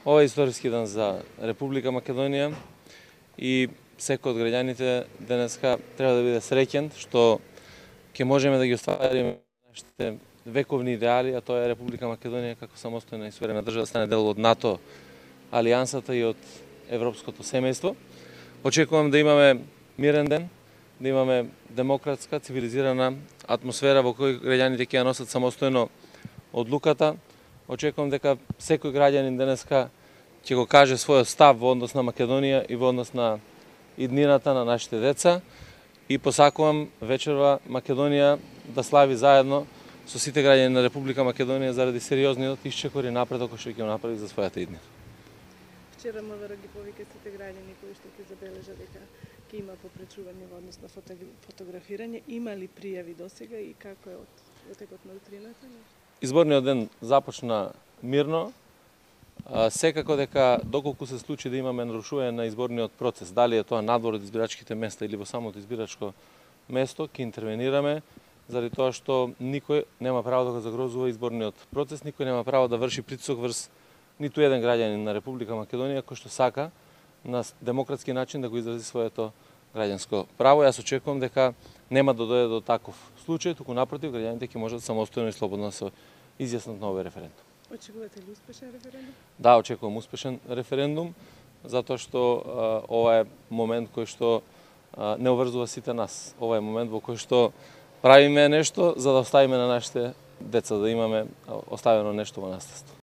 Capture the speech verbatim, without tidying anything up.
Ова е историски ден за Република Македонија и секој од граѓаните денеска треба да биде среќен што ќе можеме да ги оствариме нашите вековни идеали, а тоа е Република Македонија како самостојна и суверена држава да стане дел од НАТО, алијансата и од европското семејство. Очекувам да имаме мирен ден, да имаме демократска, цивилизирана атмосфера во кој граѓаните ќе ја носат самостојно одлуката. Очекувам дека секој граѓанин денеска ќе го каже својот став во однос на Македонија и во однос на иднината на нашите деца и посакувам вечерва Македонија да слави заедно со сите граѓани на Република Македонија заради сериозниот исчекор и напредок кој што ќе го направи за својата иднина. Вчера МВР ги повика сите граѓани кои што ќе забележа дека ќе има попречување во однос на фотографирање. Има ли пријави досега и како е од текот на утрината? Изборниот ден започна мирно. Секако дека доколку се случи да имаме нарушување на изборниот процес, дали е тоа надвор од избирачките места или во самото избирачко место, ќе интервенираме заради тоа што никој нема право да го загрозува изборниот процес, никој нема право да врши притисок врз ниту еден граѓанин на Република Македонија кој што сака на демократски начин да го изрази своето граѓанско право. Јас очекувам дека нема да дојде до таков случај, туку напротив граѓаните ќе можат самостојно и слободно да се изјаснат на овој референдум. Очекувате ли успешен референдум? Да, очекувам успешен референдум, затоа што а, ова е момент кој што а, не обврзува сите нас. Ова е момент во кој што правиме нешто за да оставиме на нашите деца, да имаме оставено нешто во наследство.